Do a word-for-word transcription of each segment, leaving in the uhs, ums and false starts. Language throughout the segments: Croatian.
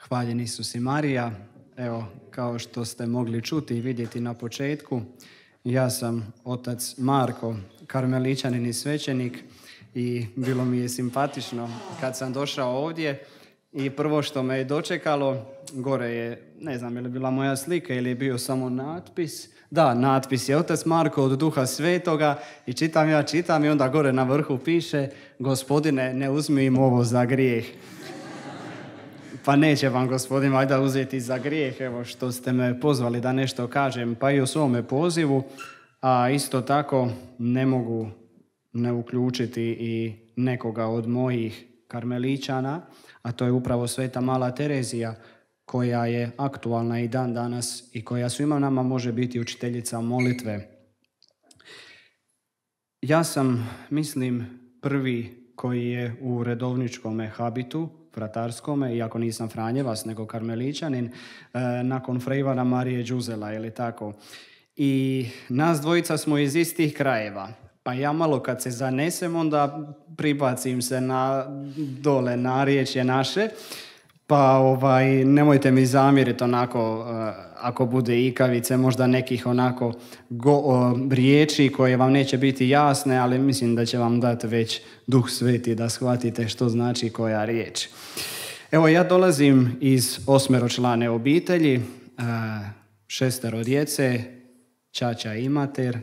Hvaljen Isus i Marija. Evo, kao što ste mogli čuti i vidjeti na početku, ja sam otac Marko, karmeličanin i svećenik, i bilo mi je simpatično kad sam došao ovdje i prvo što me je dočekalo, gore je, ne znam je li bila moja slika ili je bio samo natpis. Da, natpis je otac Marko od Duha Svetoga i čitam ja, čitam i onda gore na vrhu piše: Gospodine, ne uzmi im ovo za grijeh. Pa neće vam Gospodin valjda uzeti za grijeh, evo što ste me pozvali da nešto kažem, pa i o svome pozivu, a isto tako ne mogu ne uključiti i nekoga od mojih karmeličana, a to je upravo Sveta Mala Terezija, koja je aktualna i dan danas i koja svima nama može biti učiteljica molitve. Ja sam, mislim, prvi koji je u redovničkome habitu, fratarskome, iako nisam Franjevac, nego karmeličanin, nakon fra Ivana Marije Đuzela, ili tako. I nas dvojica smo iz istih krajeva. Pa ja malo kad se zanesem, onda pribacim se na dole narječje naše. Pa ovaj, nemojte mi zamjeriti onako, ako bude ikavice, možda nekih onako go, o, riječi koje vam neće biti jasne, ali mislim da će vam dati već Duh Sveti da shvatite što znači koja riječ. Evo, ja dolazim iz osmeročlane obitelji, šestero djece, ćaća i mater,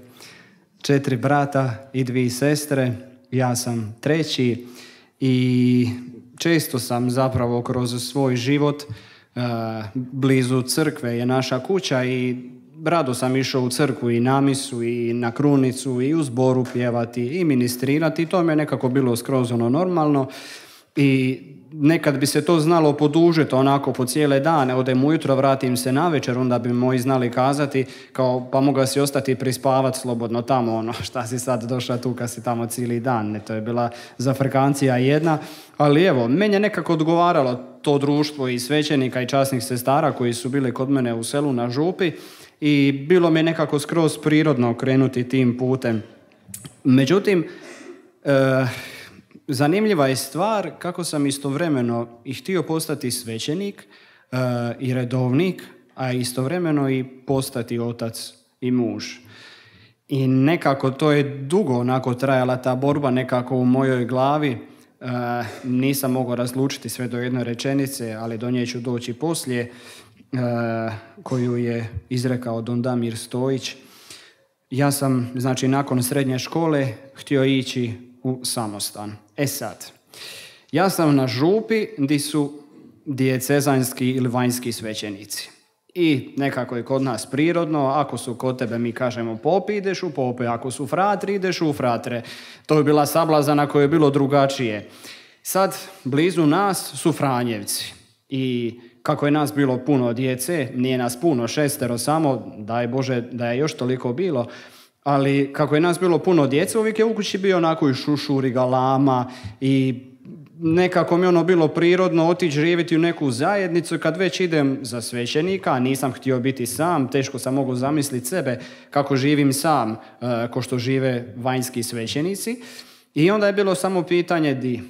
četiri brata i dvije sestre, ja sam treći i često sam zapravo kroz svoj život, blizu crkve je naša kuća i rado sam išao u crkvu i na misu i na krunicu i u zboru pjevati i ministrirati i to mi je nekako bilo skroz ono normalno i nekad bi se to znalo podužiti onako po cijele dane, odem ujutro, vratim se navečer, onda bi moji znali kazati kao pa moga si ostati prispavati slobodno tamo, ono šta si sad došla tu kad si tamo cijeli dan, ne, to je bila zafrkancija jedna, ali evo, meni je nekako odgovaralo to društvo i svećenika i časnih sestara koji su bili kod mene u selu na župi i bilo mi je nekako skroz prirodno krenuti tim putem. Međutim, e, zanimljiva je stvar kako sam istovremeno i htio postati svećenik e, i redovnik, a istovremeno i postati otac i muž. I nekako to je dugo onako trajala ta borba nekako u mojoj glavi. E, nisam mogao razlučiti sve do jedne rečenice, ali do nje ću doći poslije, e, koju je izrekao don Damir Stojić. Ja sam, znači, nakon srednje škole htio ići u samostan. E sad, ja sam na župi gdje su dijecezanski ili vanjski svećenici. I nekako je kod nas prirodno, ako su kod tebe mi kažemo popi, ideš u pope, ako su fratri, ideš u fratre. To je bila sablazana koja je bilo drugačije. Sad, blizu nas su Franjevci. I kako je nas bilo puno djece, nije nas puno, šestero samo, daj Bože da je još toliko bilo, ali kako je nas bilo puno djece, uvijek je u kući bio onako i šušur i galama i nekako mi je ono bilo prirodno otići živjeti u neku zajednicu. Kad već idem za svećenika, nisam htio biti sam, teško sam mogao zamisliti sebe kako živim sam, uh, ko što žive vanjski svećenici. I onda je bilo samo pitanje di?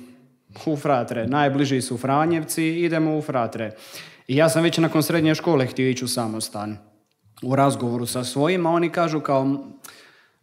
U fratre, najbliži su Franjevci, idemo u fratre. I ja sam već nakon srednje škole htio ići u samostan. U razgovoru sa svojima oni kažu kao,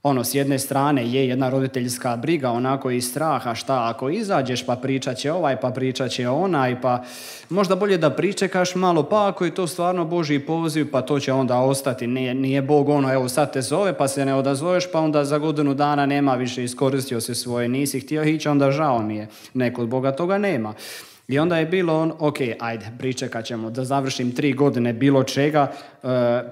ono, s jedne strane je jedna roditeljska briga, onako i straha, šta ako izađeš pa pričat će ovaj, pa pričat će onaj, pa možda bolje da pričekaš malo, pa ako je to stvarno Božji poziv, pa to će onda ostati. Nije, nije Bog ono, evo sad te zove, pa se ne odazoveš, pa onda za godinu dana nema više, iskoristio se svoje, nisi htio ići, onda žao mi je. Ne, kod Boga toga nema. I onda je bilo on, ok, ajde, pričekat ćemo da završim tri godine bilo čega,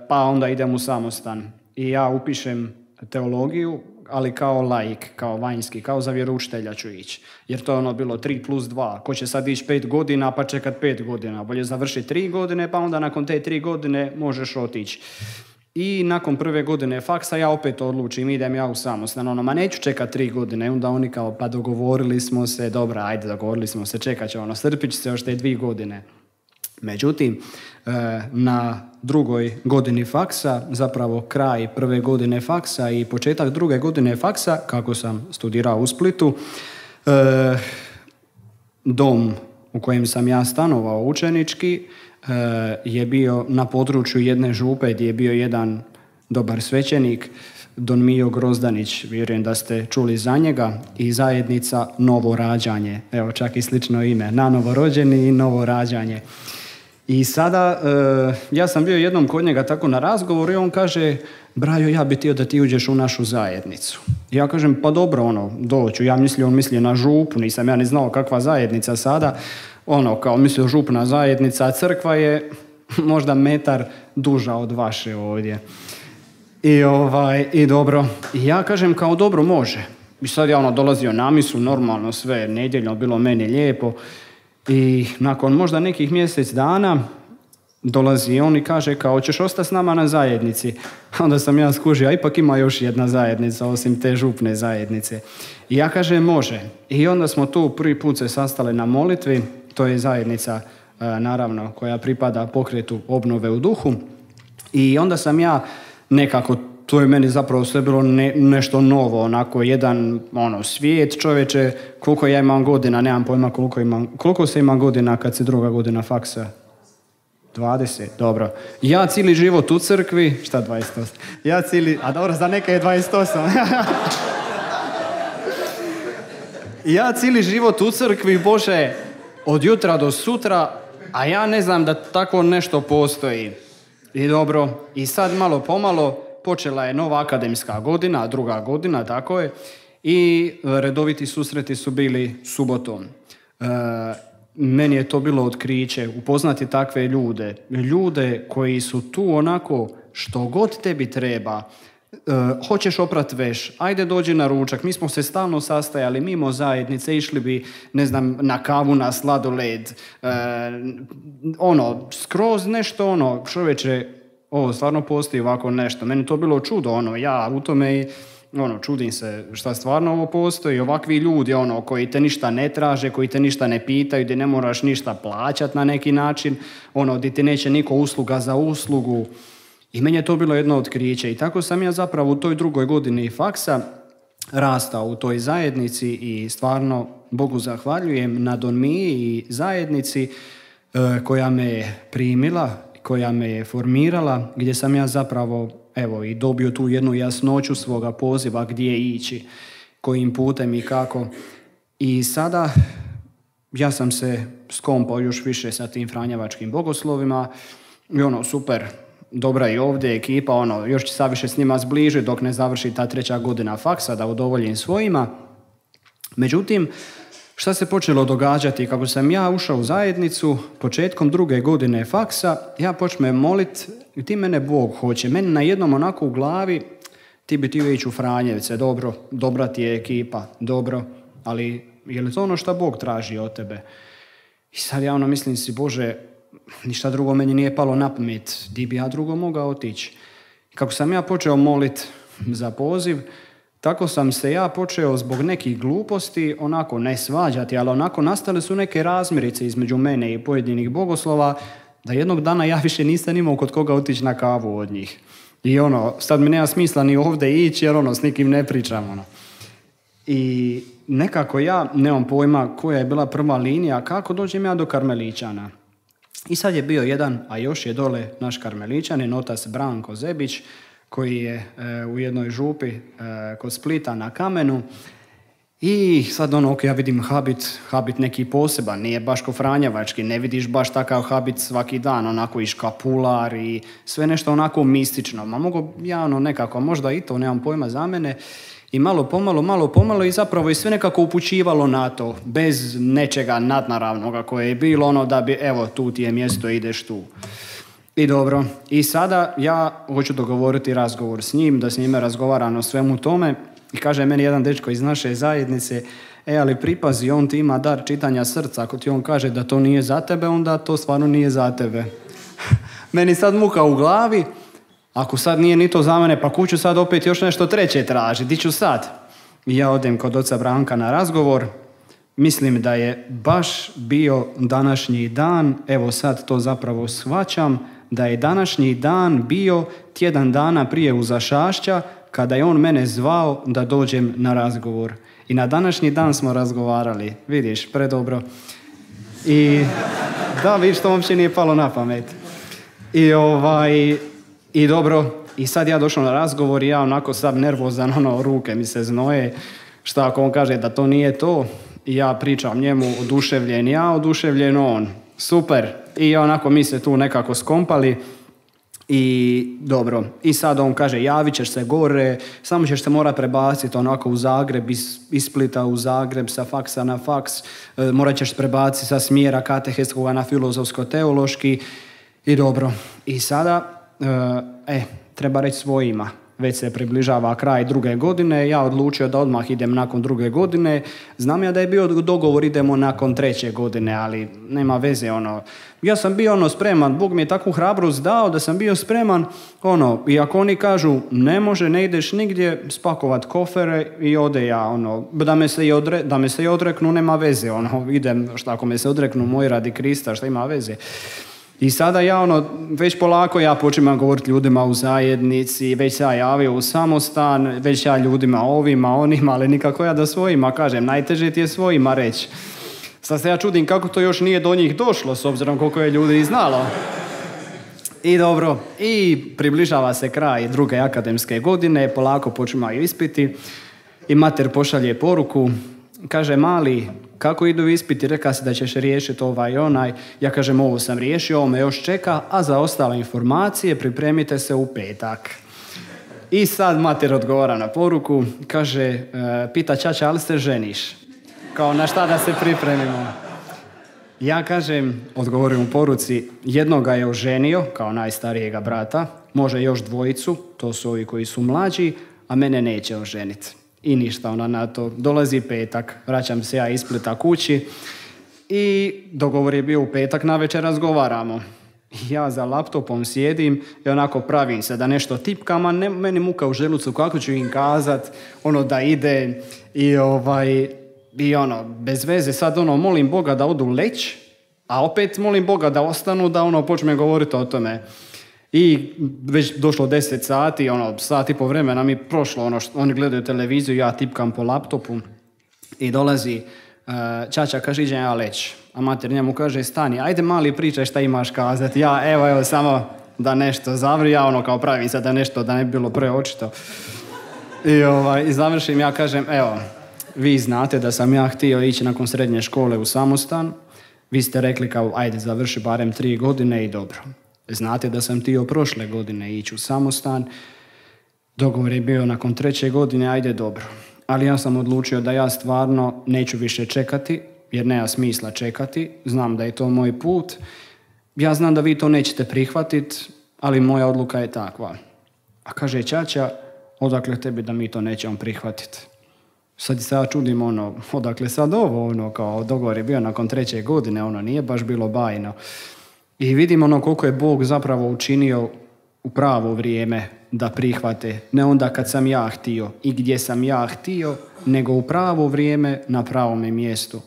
pa onda idem u samostan. I ja upišem teologiju, ali kao laik, kao vanjski, kao za vjeroučitelja ću ići. Jer to je ono bilo tri plus dva. Ko će sad ići pet godina pa čekat pet godina. Bolje završi tri godine pa onda nakon te tri godine možeš otići. I nakon prve godine faksa ja opet odlučim, idem ja u samostan. Ono, ma neću čekat tri godine. Onda oni kao, pa dogovorili smo se, dobra, ajde, dogovorili smo se, čekat će ono, strpit će se još te dvije godine. Međutim, na drugoj godini faksa, zapravo kraj prve godine faksa i početak druge godine faksa, kako sam studirao u Splitu, dom u kojem sam ja stanovao učenički je bio na području jedne župe gdje je bio jedan dobar svećenik, Don Mijo Grozdanić, vjerujem da ste čuli za njega, i zajednica Novo rađanje. Evo, čak i slično ime, na novorođeni i novo rađanje. I sada, e, ja sam bio jednom kod njega tako na razgovoru i on kaže, Brajo, ja bi htio da ti uđeš u našu zajednicu. Ja kažem, pa dobro, ono, doću. Ja mislio, on mislio na župu, nisam ja ni znao kakva zajednica sada. Ono, kao mislio župna zajednica, a crkva je možda metar duža od vaše ovdje. I, ovaj, i dobro, i ja kažem kao dobro može. I sad ja ono dolazio na misu, normalno sve, nedjeljno, bilo meni lijepo. I nakon možda nekih mjesec dana dolazi on i kaže kao hoćeš ostati s nama na zajednici. Onda sam ja skužio, a ipak ima još jedna zajednica osim te župne zajednice. I ja kažem može. I onda smo tu prvi put se sastali na molitvi. To je zajednica naravno koja pripada pokretu obnove u duhu. I onda sam ja nekako, to je meni zapravo sve bilo ne, nešto novo, onako jedan ono, svijet čovječe, koliko ja imam godina, nemam pojma koliko imam, koliko se ima godina kad se druga godina faksa? dvadeset, dobro. Ja cijeli život u crkvi, šta dvadeset osam? Ja cijeli, a dobro, za neka je dvadeset osam. Ja cijeli život u crkvi, Bože, od jutra do sutra, a ja ne znam da tako nešto postoji. I dobro, i sad malo pomalo počela je nova akademska godina, druga godina, tako je, i redoviti susreti su bili subotom. E, meni je to bilo otkriće, upoznati takve ljude, ljude koji su tu onako što god tebi treba. E, hoćeš oprat veš, ajde dođi na ručak, mi smo se stalno sastajali mimo zajednice, išli bi, ne znam, na kavu, na sladoled, e, ono, skroz nešto ono, čovječe, ovo stvarno postoji ovako nešto. Meni to bilo čudo, ono, ja u tome i ono, čudim se šta stvarno ovo postoji, ovakvi ljudi, ono, koji te ništa ne traže, koji te ništa ne pitaju, gdje ne moraš ništa plaćati na neki način, ono, gdje ti neće niko usluga za uslugu. I meni je to bilo jedno otkriće. I tako sam ja zapravo u toj drugoj godini faksa rastao u toj zajednici i stvarno Bogu zahvaljujem na Don Miji i zajednici e, koja me je primila, koja me je formirala, gdje sam ja zapravo evo i dobio tu jednu jasnoću svoga poziva gdje ići, kojim putem i kako. I sada ja sam se skompao još više sa tim franjevačkim bogoslovima i ono super, dobra i ovdje ekipa, ono, još će saviše s njima zbližiti dok ne završi ta treća godina faksa da udovoljim svojima. Međutim, šta se počelo događati? Kako sam ja ušao u zajednicu, početkom druge godine faksa, ja počnem molit, ti mene Bog hoće. Meni na jednom onako u glavi, ti bi ti ići u Franjevce, dobro, dobra ti je ekipa, dobro, ali je li to ono što Bog traži od tebe? I sad ja ono mislim si, Bože, ništa drugo meni nije palo na pamet, di bi ja drugo mogao otići. Kako sam ja počeo molit za poziv, tako sam se ja počeo zbog nekih gluposti onako ne svađati, ali onako nastale su neke razmirice između mene i pojedinih bogoslova, da jednog dana ja više nisam imao kod koga otići na kavu od njih. I ono, sad mi nema smisla ni ovdje ići jer ono, s nikim ne pričam. Ono. I nekako ja nemam pojma koja je bila prva linija, kako dođem ja do Karmeličana. I sad je bio jedan, a još je dole naš Karmeličanin, otac Branko Zebić, koji je e, u jednoj župi e, kod Splita na Kamenu. I sad ono, ok, ja vidim habit, habit neki poseban, nije baš ko franjevački, ne vidiš baš takav habit svaki dan, onako i škapular i sve nešto onako mistično. Ma mogu ja ono nekako, možda i to, nemam pojma za mene. I malo pomalo, malo pomalo i zapravo je sve nekako upućivalo na to, bez nečega nadnaravnoga koje je bilo ono da bi, evo, tu ti je mjesto, ideš tu. I dobro, i sada ja hoću dogovoriti razgovor s njim, da s njime razgovaram o svemu tome. I kaže meni jedan dečko iz naše zajednice, e, ali pripazi, on ti ima dar čitanja srca. Ako ti on kaže da to nije za tebe, onda to stvarno nije za tebe. Meni sad muka u glavi, ako sad nije ni to za mene, pa kuću sad opet još nešto treće traži, di ću sad? I ja odem kod oca Branka na razgovor, mislim da je baš bio današnji dan, evo sad to zapravo shvaćam, da je današnji dan bio tjedan dana prije Uzašašća, kada je on mene zvao da dođem na razgovor. I na današnji dan smo razgovarali, vidiš, predobro. I da, vidiš, to uopće nije palo na pamet. I ovaj, i dobro, i sad ja došao na razgovor i ja onako sad nervozan, ono, ruke mi se znoje. Šta ako on kaže da to nije to? I ja pričam njemu oduševljen, ja oduševljen on. Super. I onako mi se tu nekako skompali. I dobro, i sad on kaže javit ćeš se gore, samo ćeš se mora prebaciti onako u Zagreb, iz, iz Splita u Zagreb, sa faksa na faks, e, morat ćeš prebaciti sa smjera katehetskoga na filozofsko-teološki i dobro. I sada, e, e, treba reći svojima, već se približava kraj druge godine, ja odlučio da odmah idem nakon druge godine, znam ja da je bio dogovor idemo nakon treće godine, ali nema veze, ono, ja sam bio ono spreman, Bog mi je takvu hrabrost dao da sam bio spreman, ono, i ako oni kažu ne može, ne ideš nigdje, spakovat kofere i ode ja, ono, da me se i, odre, da me se i odreknu, nema veze, ono, idem, šta ako me se odreknu moji radi Krista, šta ima veze. I sada ja ono, već polako ja počinam govoriti ljudima u zajednici, već ja javio u samostan, već ja ljudima ovima, onima, ali nikako ja da svojima kažem, najteže ti je svojima reći. Sad se ja čudim kako to još nije do njih došlo, s obzirom koliko je ljudi i znalo. I dobro, i približava se kraj druge akademske godine, polako počinaju ispiti i mater pošalje poruku, kaže mali, kako idu ispiti, reka si da ćeš riješiti ovaj i onaj, ja kažem ovo sam riješio, ovo me još čeka, a za ostale informacije pripremite se u petak. I sad mater odgovara na poruku, kaže, e, pita ćaća, ali se ženiš? Kao na šta da se pripremimo? Ja kažem, odgovorim u poruci, jednoga je oženio, kao najstarijega brata, može još dvojicu, to su ovi koji su mlađi, a mene neće oženiti. I ništa ona na to. Dolazi petak, vraćam se ja iz Splita kući i dogovor je bio u petak, navečer razgovaramo. Ja za laptopom sjedim i onako pravim se da nešto tipkam, a ne, meni muka u želucu kako ću im kazat, ono da ide i ovaj, i ono, bez veze sad ono, molim Boga da odu leć, a opet molim Boga da ostanu, da ono počne govoriti o tome. I već došlo deset sati, ono, sat i po vremena mi prošlo, ono, što, oni gledaju televiziju, ja tipkam po laptopu i dolazi uh, ćaća, kaže, iđem ja leć. A mater njemu kaže, stani, ajde mali pričaj šta imaš kazati. Ja, evo, evo, samo da nešto zavri, ja ono kao pravim se da nešto, da ne bi bilo preočito. I, ovaj, i završim, ja kažem, evo, vi znate da sam ja htio ići nakon srednje škole u samostan, vi ste rekli kao, ajde, završi barem tri godine i dobro. Znate da sam htio prošle godine ići u samostan, dogovor je bio nakon treće godine, ajde dobro. Ali ja sam odlučio da ja stvarno neću više čekati, jer nema smisla čekati, znam da je to moj put, ja znam da vi to nećete prihvatiti, ali moja odluka je takva. A kaže ćaća, odakle tebi da mi to nećemo prihvatiti? Sad se ja čudim, ono, odakle sad ovo, ono, kao dogovor je bio nakon treće godine, ono, nije baš bilo bajno. I vidim ono koliko je Bog zapravo učinio u pravo vrijeme da prihvate. Ne onda kad sam ja htio i gdje sam ja htio, nego u pravo vrijeme na pravome mjestu.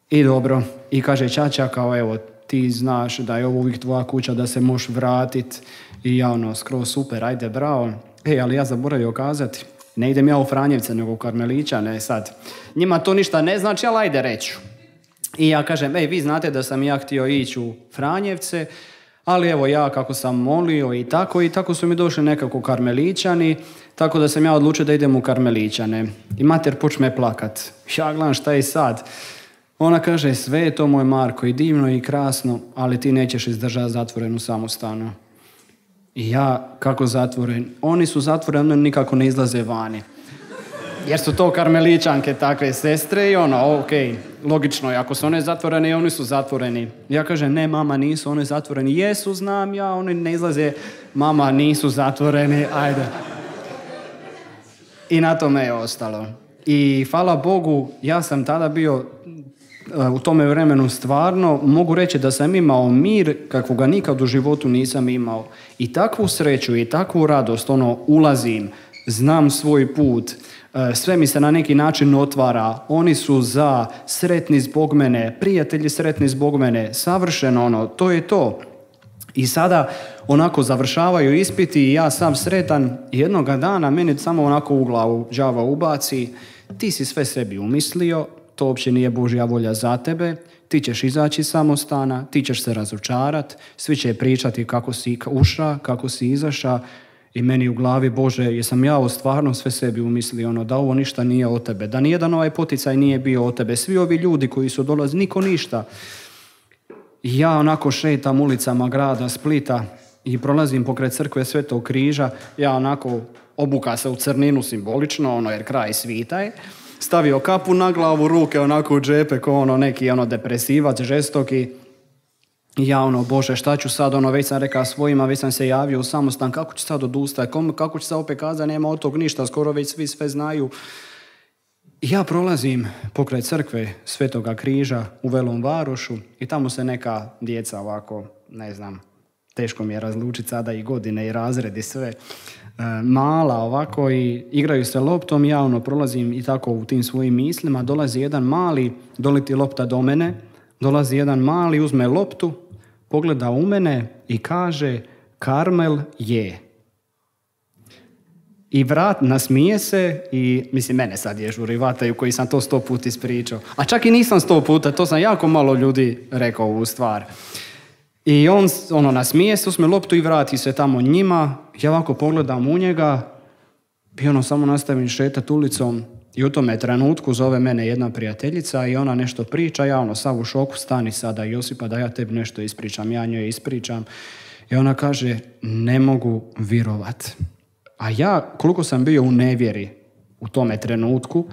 I dobro, i kaže ćaća kao evo, ti znaš da je ovo uvijek tvoja kuća, da se možeš vratit. I ja ono, skroz super, ajde bravo. E, ali ja zaboravio kazati, ne idem ja u Franjevce nego u Karmelićane sad. Njima to ništa ne znači, ali ajde reću. I ja kažem, ej, vi znate da sam ja htio ići u Franjevce, ali evo ja kako sam molio i tako, i tako su mi došli nekako Karmelićani, tako da sam ja odlučio da idem u Karmelićane. I mater počne plakat. Ja gledam šta je sad. Ona kaže, sve je to moj Marko i divno i krasno, ali ti nećeš izdržati zatvorenu samostanu. I ja, kako zatvoren? Oni su zatvoreni, oni nikako ne izlaze vani. Jer su to Karmelićanke, takve sestre i ono, ok, logično je, ako su one zatvorene, oni su zatvoreni. Ja kažem, ne mama, nisu oni zatvoreni. Jesu, znam ja, oni ne izlaze, mama, nisu zatvoreni, ajde. I na tome je ostalo. I hvala Bogu, ja sam tada bio u tome vremenu stvarno, mogu reći da sam imao mir kakvog ga nikad u životu nisam imao. I takvu sreću i takvu radost, ono, ulazim, znam svoj put, sve mi se na neki način otvara, oni su za, sretni zbog mene, prijatelji sretni zbog mene, savršeno ono, to je to. I sada onako završavaju ispiti i ja sam sretan, jednoga dana meni samo onako u glavu đava ubaci, ti si sve sebi umislio, to uopće nije Božja volja za tebe, ti ćeš izaći iz samostana, ti ćeš se razočarat, svi će pričati kako si uša, kako si izaša i meni u glavi, Bože, jesam ja ovo stvarno sve sebi umislio, ono, da ovo ništa nije od tebe, da nijedan ovaj poticaj nije bio od tebe, svi ovi ljudi koji su dolazili, niko ništa. I ja onako šetam ulicama grada Splita i prolazim pokraj crkve Svetog križa, ja onako obuka se u crninu simbolično, ono, jer kraj svita je, stavio kapu na glavu, ruke onako u džepe, kao ono neki ono depresivac, žestoki. I ja ono, Bože, šta ću sad, ono, već sam rekao svojima, već sam se javio u samostan, kako ću sad odustati, kako ću sad opet kazati, nema od tog ništa, skoro već svi sve znaju. I ja prolazim pokraj crkve Svetoga križa u Velom Varošu i tamo se neka djeca ovako, ne znam, teško mi je razlučiti sada i godine i razredi sve, mala ovako i igraju se loptom, ja ono prolazim i tako u tim svojim mislima, dolazi jedan mali, doleti lopta do mene, dolazi jedan mali, uzme loptu, pogleda u mene i kaže Karmel je. I vrat, nasmije se i, mislim, mene sad je žurivataju koji sam to sto puta ispričao. A čak i nisam sto puta, to sam jako malo ljudi rekao u stvar. I on, ono, nasmije se, uzme loptu i vrati se tamo njima. Ja ovako pogledam u njega i ono, samo nastavim šetati ulicom i u tome trenutku zove mene jedna prijateljica i ona nešto priča. Ja ono, sav u šoku, stani sada Josipa da ja tebi nešto ispričam. Ja njoj ispričam i ona kaže, ne mogu virovat. A ja, koliko sam bio u nevjeri u tome trenutku,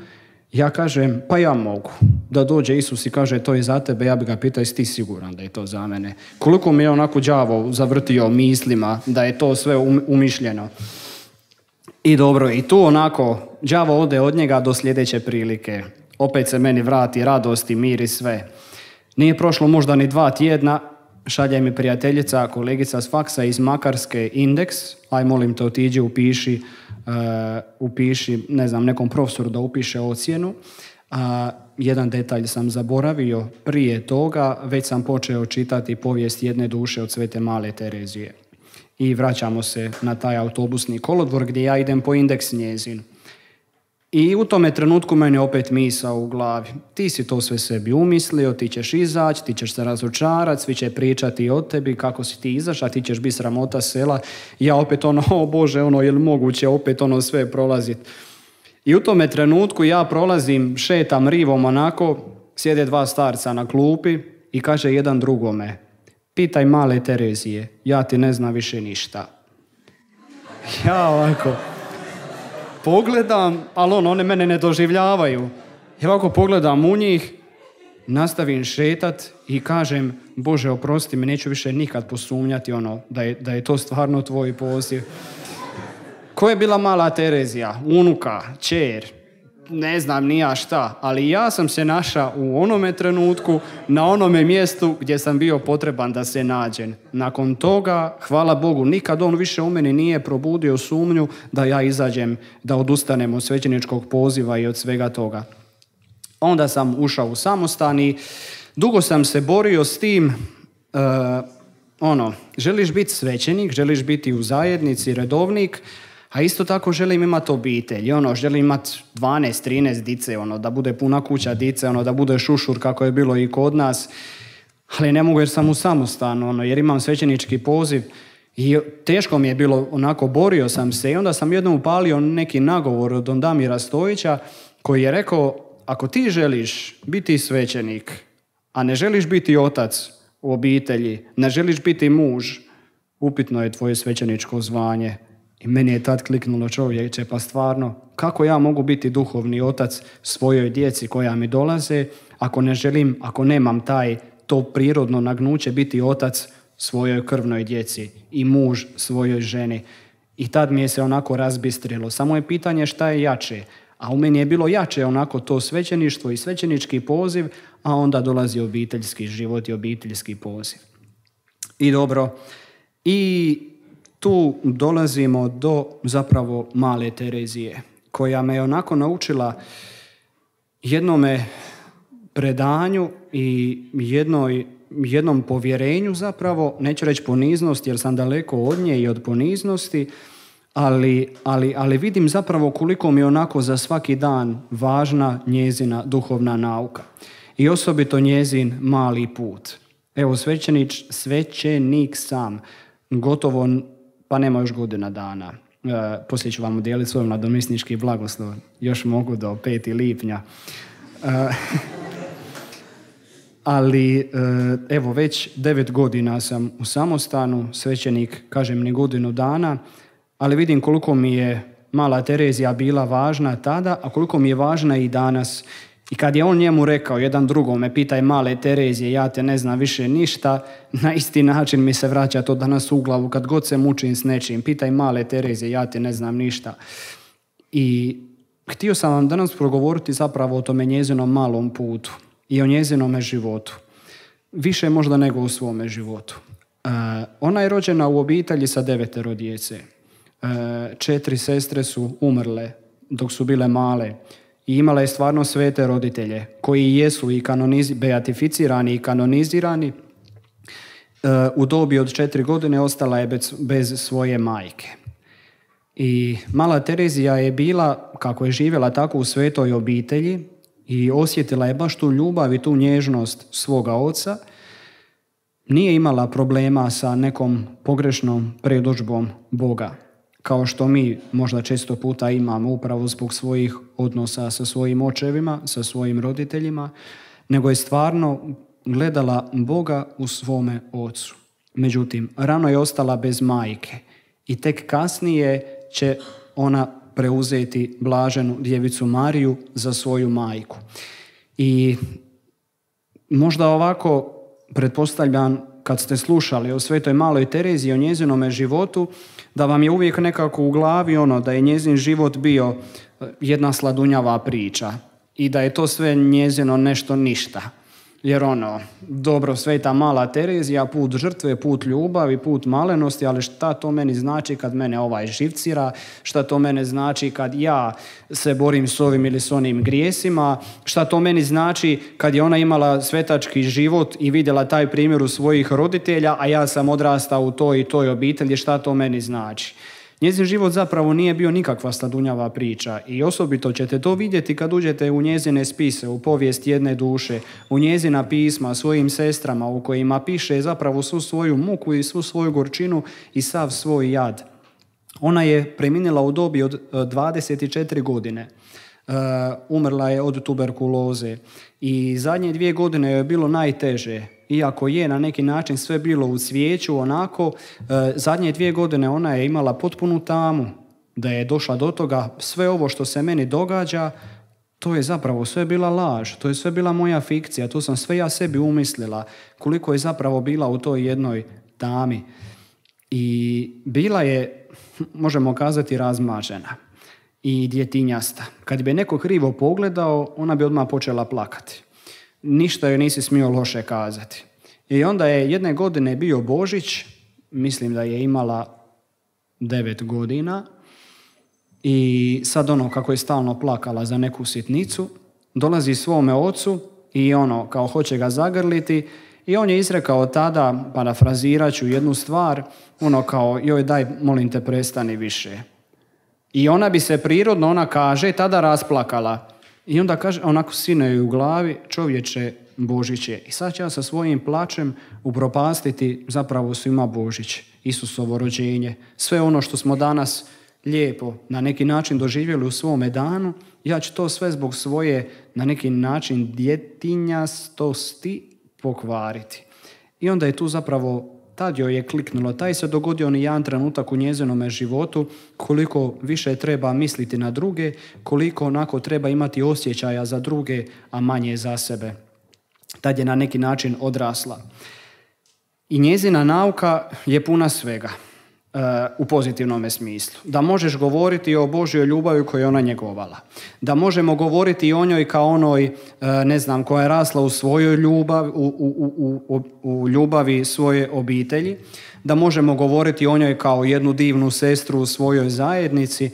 ja kažem, pa ja mogu. Da dođe Isus i kaže, to je za tebe, ja bi ga pitao, jesi ti siguran da je to za mene? Koliko mi je onako đavo zavrtio mislima da je to sve umišljeno. I dobro, i tu onako, đavo ode od njega do sljedeće prilike. Opet se meni vrati radost i mir i sve. Nije prošlo možda ni dva tjedna, šalje mi prijateljica, kolegica s faksa iz Makarske indeks, aj molim te otiđi, upiši, uh, upiši, ne znam, nekom profesoru da upiše ocjenu. A jedan detalj sam zaboravio, prije toga već sam počeo čitati povijest jedne duše od Svete Male Terezije. I vraćamo se na taj autobusni kolodvor gdje ja idem po indeks njezin. I u tome trenutku meni opet misao u glavi. Ti si to sve sebi umislio, ti ćeš izaći, ti ćeš se razočarati, svi će pričati o tebi, kako si ti izašao, ti ćeš biti sramota sela. I ja opet ono, o Bože, ono, je li moguće opet ono sve prolaziti? I u tome trenutku ja prolazim, šetam rivom onako, sjede dva starca na klupi i kaže jedan drugome, pitaj Male Terezije, ja ti ne znam više ništa. Ja ovako pogledam, ali ono, one mene ne doživljavaju. Ja ovako pogledam u njih, nastavim šetat i kažem, Bože, oprosti mi, neću više nikad posumnjati ono, da je, da je to stvarno tvoj poziv. Ko je bila Mala Terezija? Unuka, ćer, ne znam ni ja šta, ali ja sam se našao u onome trenutku, na onome mjestu gdje sam bio potreban da se nađem. Nakon toga, hvala Bogu, nikad on više u meni nije probudio sumnju da ja izađem, da odustanem od svećeničkog poziva i od svega toga. Onda sam ušao u samostan i dugo sam se borio s tim, uh, ono, želiš biti svećenik, želiš biti u zajednici, redovnik, a isto tako želim imati obitelj, ono, želim imati dvanaest trinaest dice, ono, da bude puna kuća dice, ono, da bude šušur kako je bilo i kod nas, ali ne mogu jer sam u samostanu, ono, jer imam svećenički poziv i teško mi je bilo, onako, borio sam se i onda sam jednom upalio neki nagovor od don Damira Stojića koji je rekao, ako ti želiš biti svećenik, a ne želiš biti otac u obitelji, ne želiš biti muž, upitno je tvoje svećeničko zvanje. I meni je tad kliknulo, čovječe, pa stvarno, kako ja mogu biti duhovni otac svojoj djeci koja mi dolaze, ako ne želim, ako nemam taj, to prirodno nagnuće biti otac svojoj krvnoj djeci i muž svojoj ženi. I tad mi je se onako razbistrilo. Samo je pitanje šta je jače. A u meni je bilo jače onako to svećeništvo i svećenički poziv, a onda dolazi obiteljski život i obiteljski poziv. I dobro, i tu dolazimo do zapravo Male Terezije, koja me je onako naučila jednome predanju i jednoj, jednom povjerenju zapravo, neću reći poniznosti jer sam daleko od nje i od poniznosti, ali, ali, ali vidim zapravo koliko mi je onako za svaki dan važna njezina duhovna nauka. i osobito njezin mali put. Evo, svećenik, svećenik sam, gotovo, pa nema još godina dana. E, poslije ću vam udijeliti svoj nadomisnički blagoslov. Još mogu do petog lipnja. E, ali, evo, već devet godina sam u samostanu, svećenik, kažem, ni godinu dana, ali vidim koliko mi je mala Terezija bila važna tada, a koliko mi je važna i danas. I kad je on njemu rekao, jedan drugome, pitaj male Terezije, ja te ne znam više ništa, na isti način mi se vraća to danas u glavu, kad god se mučim s nečim, pitaj male Terezije, ja te ne znam ništa. I htio sam vam danas progovoriti zapravo o tome njezinom malom putu i o njezinome životu. Više možda nego u svome životu. Uh, ona je rođena u obitelji sa devetero djece. Uh, četiri sestre su umrle dok su bile male. I imala je stvarno svete roditelje koji jesu i kanoniz- beatificirani i kanonizirani. Uh, u dobi od četiri godine ostala je bez, bez svoje majke. I mala Terezija je bila, kako je živjela tako u svetoj obitelji, i osjetila je baš tu ljubav i tu nježnost svoga oca. Nije imala problema sa nekom pogrešnom predodžbom Boga, kao što mi možda često puta imamo upravo zbog svojih odnosa sa svojim očevima, sa svojim roditeljima, nego je stvarno gledala Boga u svome ocu. Međutim, rano je ostala bez majke i tek kasnije će ona preuzeti blaženu djevicu Mariju za svoju majku. I možda ovako, pretpostavljam, kad ste slušali o svetoj maloj Tereziji i o njezinome životu, da vam je uvijek nekako u glavi ono da je njezin život bio jedna sladunjava priča i da je to sve njezino nešto ništa. Jer ono, dobro, sveta mala Terezija, put žrtve, put ljubavi, put malenosti, ali šta to meni znači kad mene ovaj živcira, šta to mene znači kad ja se borim s ovim ili s onim grijesima, šta to meni znači kad je ona imala svetački život i vidjela taj primjer u svojih roditelja, a ja sam odrastao u toj i toj obitelji, šta to meni znači. Njezin život zapravo nije bio nikakva sladunjava priča i osobito ćete to vidjeti kad uđete u njezine spise, u povijest jedne duše, u njezina pisma svojim sestrama u kojima piše zapravo svu svoju muku i svu svoju gorčinu i sav svoj jad. Ona je preminila u dobi od dvadeset četiri godine. Uh, umrla je od tuberkuloze i zadnje dvije godine je bilo najteže. Iako je na neki način sve bilo u cvijeću, onako, uh, zadnje dvije godine ona je imala potpunu tamu, da je došla do toga, sve ovo što se meni događa, to je zapravo sve bila laž, to je sve bila moja fikcija, to sam sve ja sebi umislila, koliko je zapravo bila u toj jednoj tami. I bila je, možemo kazati, razmažena i djetinjasta. Kad bi neko krivo pogledao, ona bi odmah počela plakati. Ništa joj nisi smio loše kazati. I onda je jedne godine bio Božić, mislim da je imala devet godina, i sad ono, kako je stalno plakala za neku sitnicu, dolazi svome ocu i ono, kao hoće ga zagrliti, i on je izrekao tada, parafrazirat ću jednu stvar, ono kao, joj daj, molim te, prestani više. I ona bi se prirodno, ona kaže, tada rasplakala. I onda kaže, onako sine joj u glavi, čovječe, Božić je. I sad će ja sa svojim plačem upropastiti zapravo svima Božić, Isusovo rođenje. Sve ono što smo danas lijepo na neki način doživjeli u svome danu, ja ću to sve zbog svoje na neki način djetinjastosti pokvariti. I onda je tu zapravo, tad joj je kliknulo, taj se dogodio ni jedan trenutak u njezinome životu, koliko više treba misliti na druge, koliko onako treba imati osjećaja za druge, a manje za sebe. Tad je na neki način odrasla. I njezina nauka je puna svega, uh, u pozitivnome smislu. Da možeš govoriti o Božjoj ljubavi koju je ona njegovala. Da možemo govoriti o njoj kao onoj, uh, ne znam, koja je rasla u svojoj ljubavi, u, u, u, u, u ljubavi svoje obitelji. Da možemo govoriti o njoj kao jednu divnu sestru u svojoj zajednici.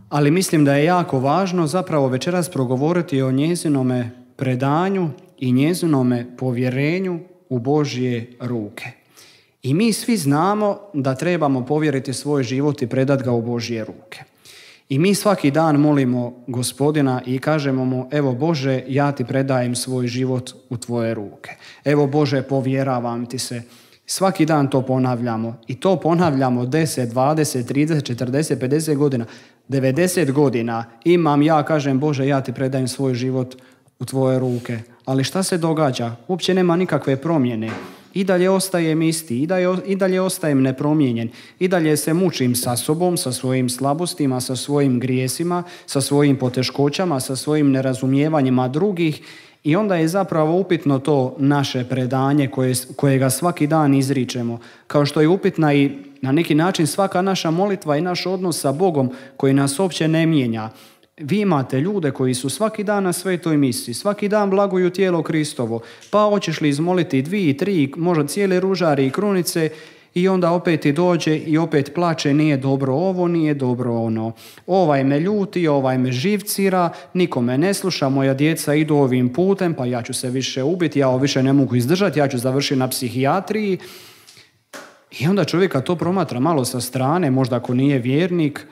Ali mislim da je jako važno zapravo večeras progovoriti o njezinome predanju i njezinome povjerenju u Božje ruke. I mi svi znamo da trebamo povjeriti svoj život i predati ga u Božje ruke. I mi svaki dan molimo Gospodina i kažemo mu, evo Bože, ja ti predajem svoj život u tvoje ruke. Evo Bože, povjeravam ti se. Svaki dan to ponavljamo. I to ponavljamo deset, dvadeset, trideset, četrdeset, pedeset godina. devedeset godina imam ja, kažem Bože, ja ti predajem svoj život u tvoje ruke. Ali šta se događa? Uopće nema nikakve promjene. I dalje ostajem isti, i dalje, i dalje ostajem nepromijenjen, i dalje se mučim sa sobom, sa svojim slabostima, sa svojim grijesima, sa svojim poteškoćama, sa svojim nerazumijevanjima drugih i onda je zapravo upitno to naše predanje koje, kojega svaki dan izričemo, kao što je upitna i na neki način svaka naša molitva i naš odnos sa Bogom koji nas uopće ne mijenja. Vi imate ljude koji su svaki dan na svetoj misi, svaki dan blaguju tijelo Kristovo, pa hoćeš li izmoliti dvije, tri, možda cijele ružari i krunice i onda opet ti dođe i opet plače, nije dobro ovo, nije dobro ono. Ovaj me ljuti, ovaj me živcira, niko me ne sluša, moja djeca idu ovim putem, pa ja ću se više ubiti, ja ovo više ne mogu izdržati, ja ću završiti na psihijatriji. I onda čovjeka to promatra malo sa strane, možda ako nije vjernik,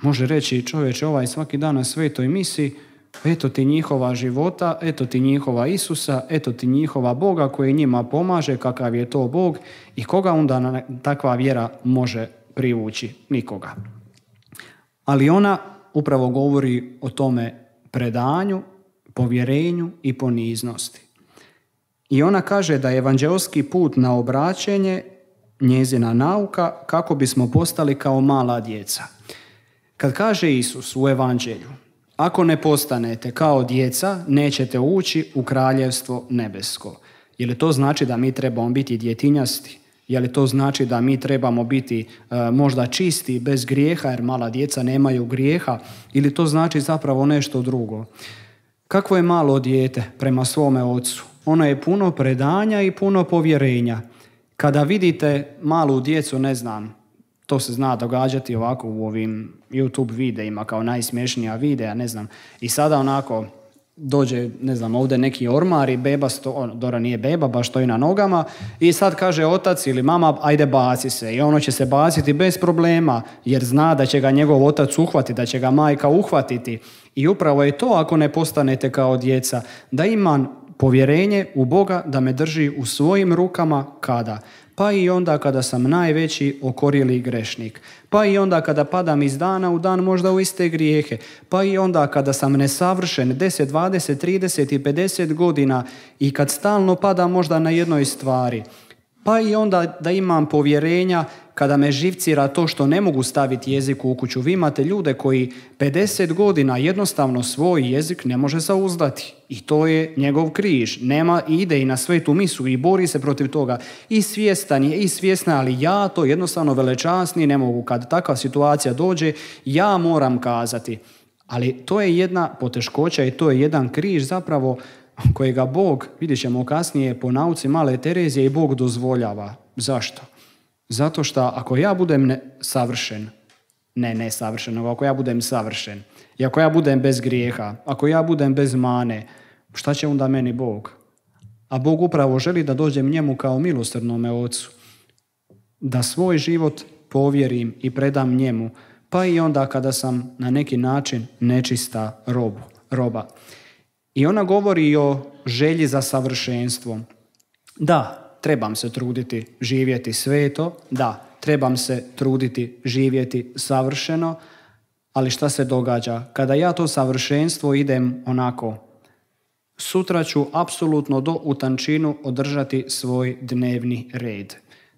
može reći čovječe ovaj svaki dan na svetoj misi, eto ti njihova života, eto ti njihova Isusa, eto ti njihova Boga koji njima pomaže, kakav je to Bog i koga onda takva vjera može privući? Nikoga. Ali ona upravo govori o tome predanju, povjerenju i poniznosti. I ona kaže da je evanđeoski put na obraćenje njezina nauka kako bismo postali kao mala djeca. Kad kaže Isus u evanđelju, ako ne postanete kao djeca, nećete ući u kraljevstvo nebesko. Je li to znači da mi trebamo biti djetinjasti? Je li to znači da mi trebamo biti e, možda čisti, bez grijeha, jer mala djeca nemaju grijeha? Ili to znači zapravo nešto drugo? Kakvo je malo dijete prema svome ocu? Ono je puno predanja i puno povjerenja. Kada vidite malu djecu, ne znam, to se zna događati ovako u ovim YouTube videima kao najsmješnija videa, ne znam. I sada onako dođe, ne znam, ovdje neki ormar i beba, sto, Dora nije beba, baš stoji na nogama i sad kaže otac ili mama, ajde baci se. I ono će se baciti bez problema jer zna da će ga njegov otac uhvatiti, da će ga majka uhvatiti. I upravo je to ako ne postanete kao djeca, da imam povjerenje u Boga da me drži u svojim rukama kada? Pa i onda kada sam najveći okorjeli grešnik. Pa i onda kada padam iz dana u dan možda u iste grijehe. Pa i onda kada sam nesavršen deset, dvadeset, trideset i pedeset godina i kad stalno padam možda na jednoj stvari. Pa i onda da imam povjerenja kada me živcira to što ne mogu staviti jezik u kuću. Vi imate ljude koji pedeset godina jednostavno svoj jezik ne može zauzdati. I to je njegov križ. Nema, ide i na svetu misu i bori se protiv toga. I svjestan je, i svjesna, ali ja to jednostavno velečasni ne mogu. Kad takva situacija dođe, ja moram kazati. Ali to je jedna poteškoća i to je jedan križ zapravo kojega Bog, vidjet ćemo kasnije po nauci Male Terezije, i Bog dozvoljava. Zašto? Zato što ako ja budem ne, savršen, ne nesavršen, nego ako ja budem savršen, i ako ja budem bez grijeha, ako ja budem bez mane, šta će onda meni Bog? A Bog upravo želi da dođem njemu kao milosrdnome ocu, da svoj život povjerim i predam njemu, pa i onda kada sam na neki način nečista robu, roba. I ona govori o želji za savršenstvom. Da, trebam se truditi živjeti sveto, da, trebam se truditi živjeti savršeno, ali šta se događa? Kada ja to savršenstvo idem onako, sutra ću apsolutno do u tančinu održati svoj dnevni red.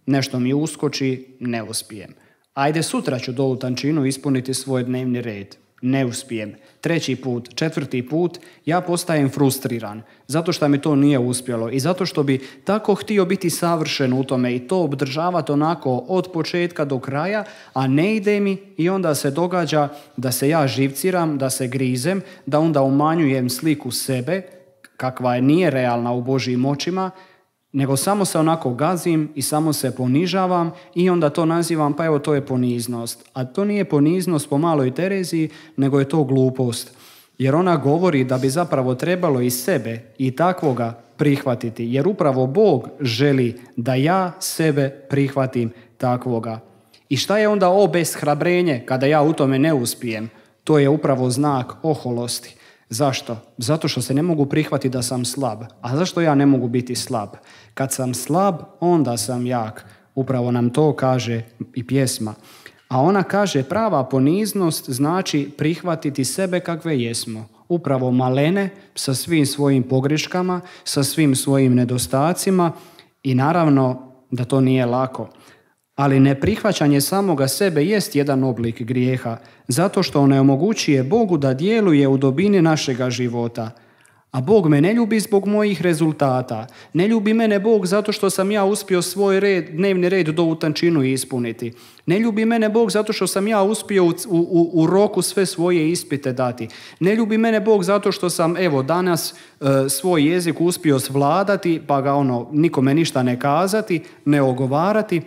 Nešto mi uskoči, ne uspijem. Ajde, sutra ću do u tančinu ispuniti svoj dnevni red. Ne uspijem. Treći put, četvrti put, ja postajem frustriran zato što mi to nije uspjelo i zato što bi tako htio biti savršen u tome i to obdržavati onako od početka do kraja, a ne ide mi i onda se događa da se ja živciram, da se grizem, da onda umanjujem sliku sebe, kakva je nije realna u Božjim očima, nego samo se onako gazim i samo se ponižavam i onda to nazivam, pa evo to je poniznost. A to nije poniznost po Maloj Tereziji, nego je to glupost. Jer ona govori da bi zapravo trebalo i sebe i takvoga prihvatiti. Jer upravo Bog želi da ja sebe prihvatim takvoga. I šta je onda obeshrabrenje kada ja u tome ne uspijem? To je upravo znak oholosti. Zašto? Zato što se ne mogu prihvatiti da sam slab. A zašto ja ne mogu biti slab? Kad sam slab, onda sam jak. Upravo nam to kaže i pjesma. A ona kaže prava poniznost znači prihvatiti sebe kakve jesmo. Upravo malene sa svim svojim pogreškama, sa svim svojim nedostacima i naravno da to nije lako. Ali neprihvaćanje samoga sebe jest jedan oblik grijeha, zato što on ne omogućuje Bogu da djeluje u dubini našega života. A Bog me ne ljubi zbog mojih rezultata. Ne ljubi mene Bog zato što sam ja uspio svoj red, dnevni red do u tančinu ispuniti. Ne ljubi mene Bog zato što sam ja uspio u, u, u roku sve svoje ispite dati. Ne ljubi mene Bog zato što sam evo danas e, svoj jezik uspio svladati pa ga ono nikome ništa ne kazati, ne ogovarati.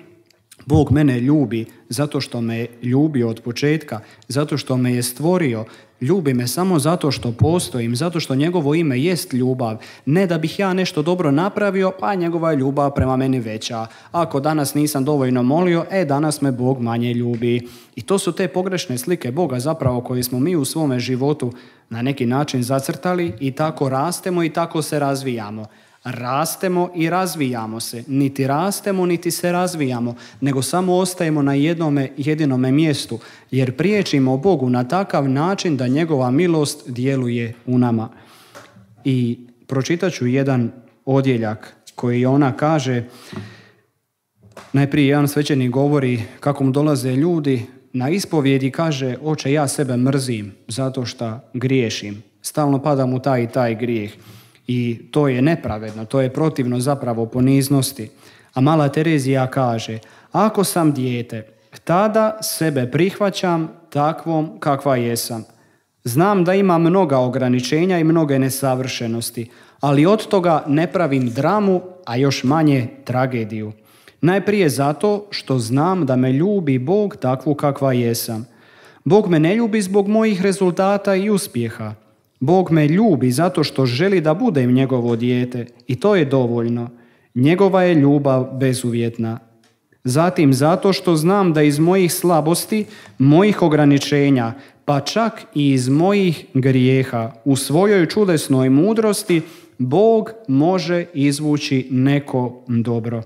Bog mene ljubi zato što me je ljubio od početka, zato što me je stvorio. Ljubi me samo zato što postojim, zato što njegovo ime jest ljubav. Ne da bih ja nešto dobro napravio, pa njegova je ljubav prema meni veća. Ako danas nisam dovoljno molio, e danas me Bog manje ljubi. I to su te pogrešne slike Boga zapravo koje smo mi u svome životu na neki način zacrtali i tako rastemo i tako se razvijamo. Rastemo i razvijamo se. Niti rastemo, niti se razvijamo, nego samo ostajemo na jednome jedinome mjestu, jer priječimo Bogu na takav način da njegova milost djeluje u nama. I pročitat ću jedan odjeljak koji ona kaže, najprije jedan svećenik govori kako mu dolaze ljudi na ispovjedi, kaže, oče, ja sebe mrzim zato što griješim. Stalno padam u taj i taj grijeh. I to je nepravedno, to je protivno zapravo poniznosti. A mala Terezija kaže, ako sam dijete, tada sebe prihvaćam takvom kakva jesam. Znam da imam mnoga ograničenja i mnoge nesavršenosti, ali od toga ne pravim dramu, a još manje tragediju. Najprije zato što znam da me ljubi Bog takvu kakva jesam. Bog me ne ljubi zbog mojih rezultata i uspjeha. Bog me ljubi zato što želi da budem njegovo dijete i to je dovoljno. Njegova je ljubav bezuvjetna. Zatim zato što znam da iz mojih slabosti, mojih ograničenja, pa čak i iz mojih grijeha, u svojoj čudesnoj mudrosti, Bog može izvući neko dobro.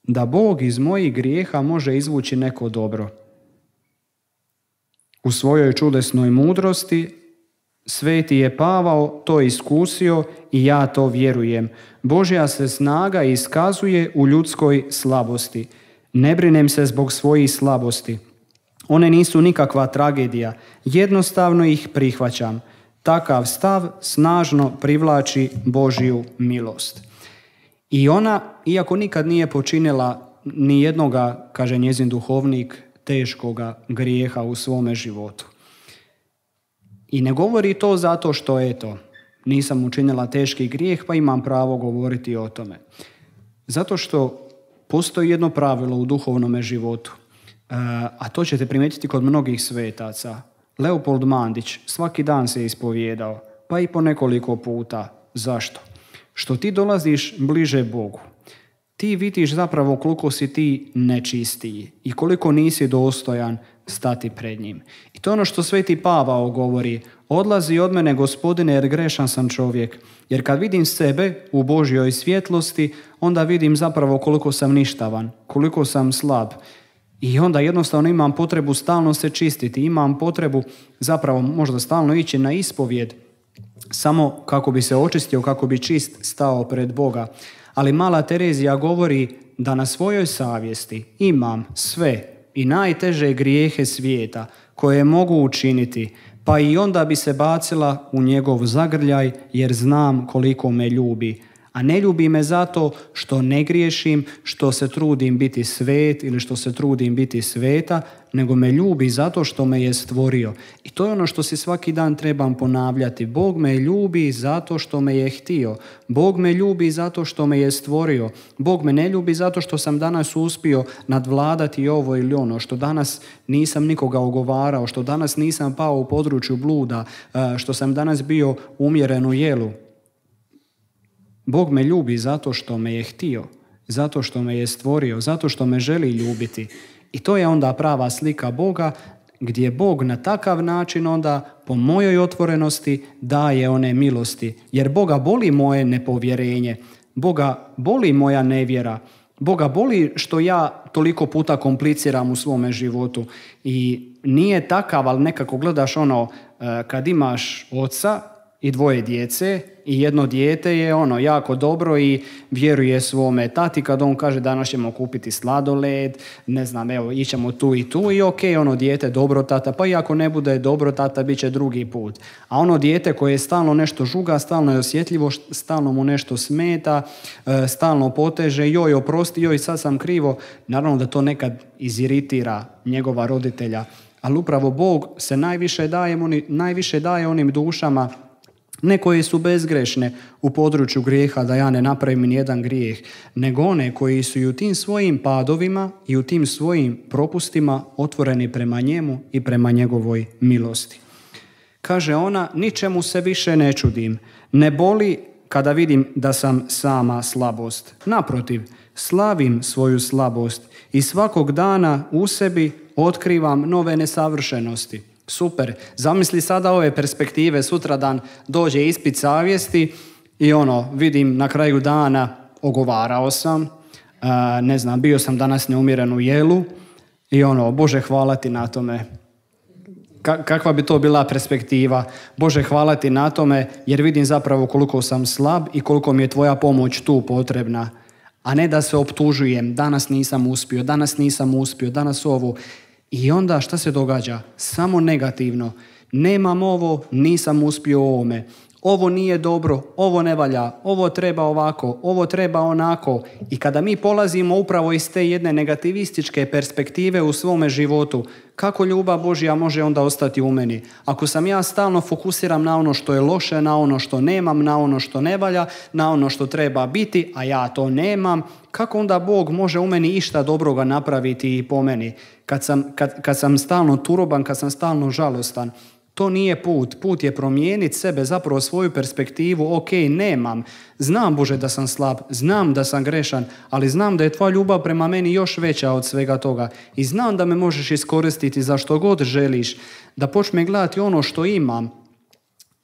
Da Bog iz mojih grijeha može izvući neko dobro. U svojoj čudesnoj mudrosti sveti je Pavao to iskusio i ja to vjerujem. Božja se snaga iskazuje u ljudskoj slabosti. Ne brinem se zbog svojih slabosti. One nisu nikakva tragedija. Jednostavno ih prihvaćam. Takav stav snažno privlači Božju milost. I ona, iako nikad nije počinila ni jednoga, kaže njezin duhovnik, teškoga grijeha u svome životu. I ne govori to zato što eto, nisam učinila teški grijeh pa imam pravo govoriti o tome. Zato što postoji jedno pravilo u duhovnome životu, a to ćete primijetiti kod mnogih svetaca. Leopold Mandić svaki dan se ispovijedao, pa i po nekoliko puta. Zašto? Što ti dolaziš bliže Bogu. Ti vidiš zapravo koliko si ti nečistiji i koliko nisi dostojan stati pred njim. I to je ono što sveti Pavao govori, odlazi od mene Gospodine jer grešan sam čovjek. Jer kad vidim sebe u Božjoj svjetlosti, onda vidim zapravo koliko sam ništavan, koliko sam slab. I onda jednostavno imam potrebu stalno se čistiti, imam potrebu zapravo možda stalno ići na ispovjed, samo kako bi se očistio, kako bi čist stao pred Boga. Ali mala Terezija govori da na svojoj savjesti imam sve i najteže grijehe svijeta koje mogu učiniti, pa i onda bi se bacila u njegov zagrljaj jer znam koliko me ljubi. A ne ljubi me zato što ne griješim, što se trudim biti svet ili što se trudim biti sveta, nego me ljubi zato što me je stvorio. I to je ono što si svaki dan trebam ponavljati. Bog me ljubi zato što me je htio. Bog me ljubi zato što me je stvorio. Bog me ne ljubi zato što sam danas uspio nadvladati ovo ili ono, što danas nisam nikoga ogovarao, što danas nisam pao u području bluda, što sam danas bio umjeren u jelu. Bog me ljubi zato što me je htio, zato što me je stvorio, zato što me želi ljubiti. I to je onda prava slika Boga, gdje Bog na takav način onda po mojoj otvorenosti daje one milosti. Jer Boga boli moje nepovjerenje, Boga boli moja nevjera, Boga boli što ja toliko puta kompliciram u svome životu. I nije takav, ali nekako gledaš ono, kad imaš oca i dvoje djece i jedno dijete je ono jako dobro i vjeruje svome tati kad on kaže danas ćemo kupiti sladoled, ne znam, evo ićemo tu i tu i ok, ono dijete dobro tata, pa i ako ne bude dobro tata bit će drugi put. A ono dijete koje stalno nešto žuga, stalno je osjetljivo, stalno mu nešto smeta, stalno poteže, joj oprosti, joj sad sam krivo, naravno da to nekad iziritira njegova roditelja, ali upravo Bog se najviše daje, najviše daje onim dušama ne koje su bezgrešne u području grijeha, da ja ne napravim ni jedan grijeh, nego one koji su i u tim svojim padovima i u tim svojim propustima otvoreni prema njemu i prema njegovoj milosti. Kaže ona, ničemu se više ne čudim, ne boli kada vidim da sam sama slabost. Naprotiv, slavim svoju slabost i svakog dana u sebi otkrivam nove nesavršenosti. Super, zamisli sada ove perspektive, sutradan dođe ispit savjesti i ono, vidim na kraju dana ogovarao sam, ne znam, bio sam danas neumjeren u jelu i ono, Bože hvala ti na tome. Kakva bi to bila perspektiva? Bože hvala ti na tome jer vidim zapravo koliko sam slab i koliko mi je tvoja pomoć tu potrebna. A ne da se optužujem, danas nisam uspio, danas nisam uspio, danas ovo. I onda šta se događa? Samo negativno. Nemam ovo, nisam uspio u ovome. Ovo nije dobro, ovo ne valja, ovo treba ovako, ovo treba onako. I kada mi polazimo upravo iz te jedne negativističke perspektive u svome životu, kako ljubav Božja može onda ostati u meni? Ako sam ja stalno fokusiram na ono što je loše, na ono što nemam, na ono što ne valja, na ono što treba biti, a ja to nemam, kako onda Bog može u meni išta dobroga napraviti i po meni? Kad sam, kad, kad sam stalno turoban, kad sam stalno žalostan, to nije put. Put je promijeniti sebe, zapravo svoju perspektivu. Ok, nemam. Znam, Bože, da sam slab. Znam da sam grešan, ali znam da je tvoja ljubav prema meni još veća od svega toga. I znam da me možeš iskoristiti za što god želiš. Da počne gledati ono što imam.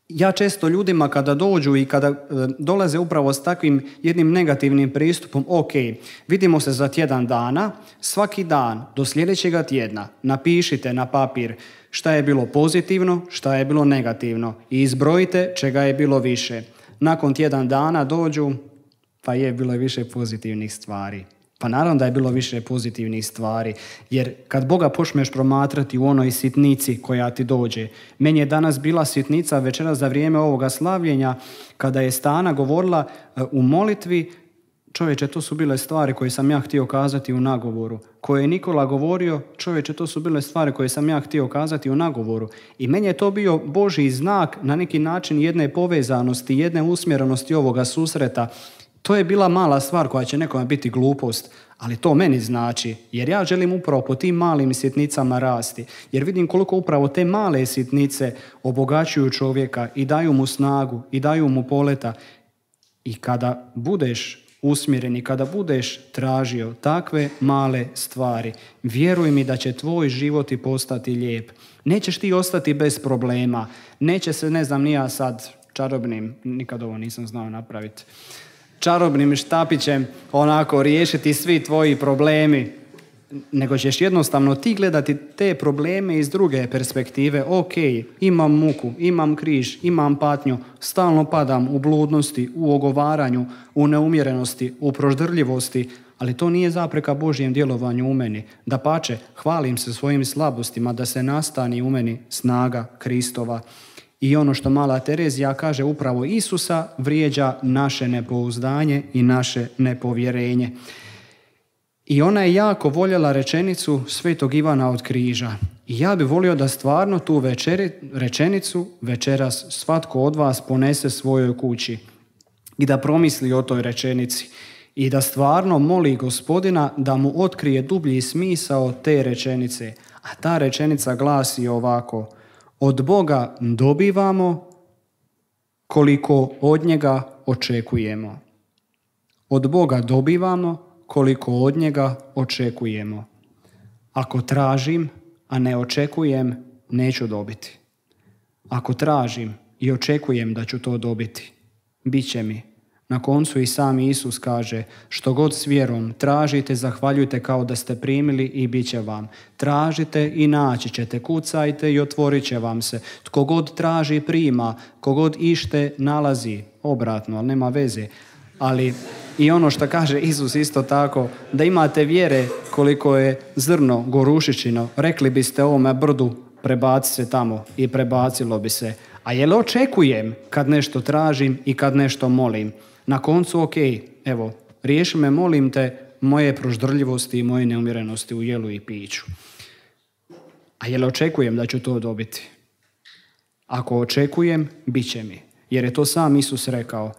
Ja često ljudima kada dođu i kada e, dolaze upravo s takvim jednim negativnim pristupom, ok, vidimo se za tjedan dana, svaki dan do sljedećega tjedna napišite na papir šta je bilo pozitivno, šta je bilo negativno i izbrojite čega je bilo više. Nakon tjedan dana dođu, pa je bilo više pozitivnih stvari. Pa naravno da je bilo više pozitivnih stvari, jer kad Boga počneš promatrati u onoj sitnici koja ti dođe, meni je danas bila sitnica večeras za vrijeme ovoga slavljenja, kada je Stana govorila u molitvi, čovječe, to su bile stvari koje sam ja htio kazati u nagovoru. Koje je Nikola govorio, čovječe, to su bile stvari koje sam ja htio kazati u nagovoru. I meni je to bio Božji znak na neki način jedne povezanosti, jedne usmjerenosti ovoga susreta. To je bila mala stvar koja će nekome biti glupost, ali to meni znači, jer ja želim upravo po tim malim sitnicama rasti, jer vidim koliko upravo te male sitnice obogaćuju čovjeka i daju mu snagu i daju mu poleta. I kada budeš usmjeren i kada budeš tražio takve male stvari, vjeruj mi da će tvoj život i postati lijep. Nećeš ti ostati bez problema, neće se, ne znam, ni ja sad čarobnim, nikad ovo nisam znao napraviti, čarobnim štapićem onako riješiti svi tvoji problemi, nego ćeš jednostavno ti gledati te probleme iz druge perspektive. Ok, imam muku, imam križ, imam patnju, stalno padam u bludnosti, u ogovaranju, u neumjerenosti, u proždrljivosti, ali to nije zapreka Božjem djelovanju u meni. Dapače, hvalim se svojim slabostima da se nastani u meni snaga Kristova. I ono što mala Terezija kaže, upravo Isusa vrijeđa naše nepouzdanje i naše nepovjerenje. I ona je jako voljela rečenicu Svetog Ivana od križa. I ja bih volio da stvarno tu večeri, rečenicu večeras svatko od vas ponese svojoj kući i da promisli o toj rečenici i da stvarno moli Gospodina da mu otkrije dublji smisao te rečenice. A ta rečenica glasi ovako: od Boga dobivamo koliko od njega očekujemo. Od Boga dobivamo koliko od njega očekujemo. Ako tražim, a ne očekujem, neću dobiti. Ako tražim i očekujem da ću to dobiti, bit će mi. Na koncu i sam Isus kaže, što god s vjerom tražite, zahvaljujte kao da ste primili i bit će vam. Tražite i naći ćete, kucajte i otvorit će vam se. Tko god traži prima, ko god ište nalazi. Obratno, ali nema veze. Ali i ono što kaže Isus isto tako, da imate vjere koliko je zrno gorušičino, rekli biste ovome brdu, prebaci se tamo i prebacilo bi se. A jel očekujem kad nešto tražim i kad nešto molim? Na koncu, ok, evo, riješi me, molim te, moje proždrljivosti i moje neumjerenosti u jelu i piću. A jel očekujem da ću to dobiti? Ako očekujem, bit će mi. Jer je to sam Isus rekao.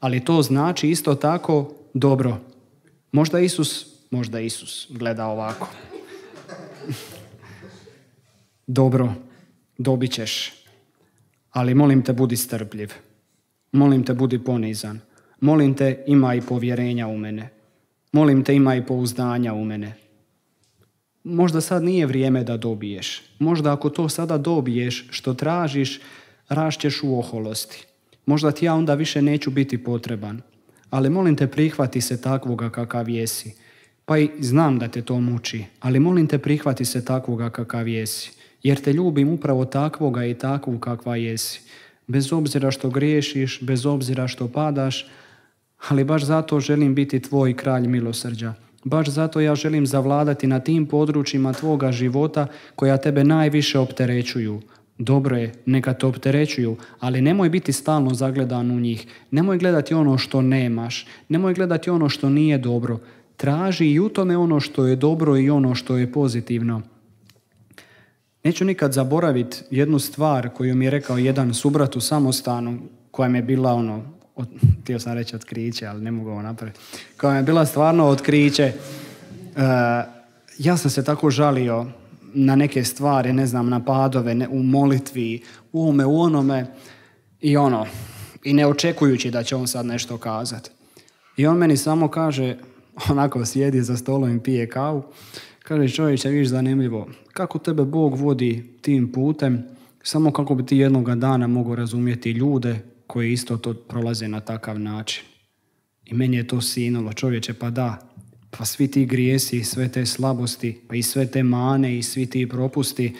Ali to znači isto tako dobro. Možda Isus, možda Isus gleda ovako. Dobro, dobit ćeš. Ali molim te, budi strpljiv. Molim te, budi ponizan. Molim te, imaj povjerenja u mene. Molim te, imaj pouzdanja u mene. Možda sad nije vrijeme da dobiješ. Možda ako to sada dobiješ što tražiš, rašćeš u oholosti. Možda ti ja onda više neću biti potreban. Ali molim te, prihvati se takvoga kakav jesi. Pa i znam da te to muči, ali molim te, prihvati se takvoga kakav jesi. Jer te ljubim upravo takvoga i takvu kakva jesi. Bez obzira što griješiš, bez obzira što padaš, ali baš zato želim biti tvoj kralj milosrđa. Baš zato ja želim zavladati na tim područjima tvoga života koja tebe najviše opterećuju. Dobro je, neka te opterećuju, ali nemoj biti stalno zagledan u njih. Nemoj gledati ono što nemaš. Nemoj gledati ono što nije dobro. Traži i u tome ono što je dobro i ono što je pozitivno. Neću nikad zaboraviti jednu stvar koju mi je rekao jedan subrat u samostanu, koja mi je bila ono, od, htio sam reći otkriće, ali ne mogu ovo napraviti, koja mi je bila stvarno otkriće. E, ja sam se tako žalio na neke stvari, ne znam, na padove, ne, u molitvi, u ovome, u onome, i ono, i ne očekujući da će on sad nešto kazati. I on meni samo kaže, onako sjedi za stolom i pije kavu, kaže, čovječe, viš zanimljivo, kako tebe Bog vodi tim putem, samo kako bi ti jednoga dana mogao razumjeti ljude koji isto to prolaze na takav način. I meni je to sinulo, čovječe, pa da, pa svi ti grijesi, sve te slabosti, pa i sve te mane i svi ti propusti,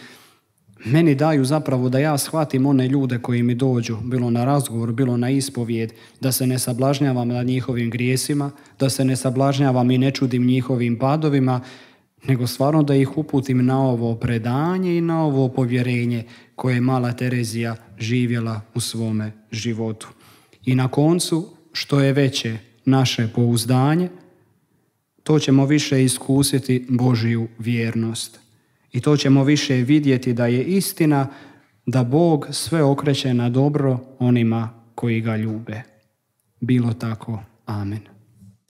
meni daju zapravo da ja shvatim one ljude koji mi dođu, bilo na razgovor, bilo na ispovijed, da se ne sablažnjavam nad njihovim grijesima, da se ne sablažnjavam i ne čudim njihovim padovima, nego stvarno da ih uputim na ovo predanje i na ovo povjerenje koje je mala Terezija živjela u svome životu. I na koncu, što je veće naše pouzdanje, to ćemo više iskusiti Božju vjernost. I to ćemo više vidjeti da je istina da Bog sve okreće na dobro onima koji ga ljube. Bilo tako. Amen.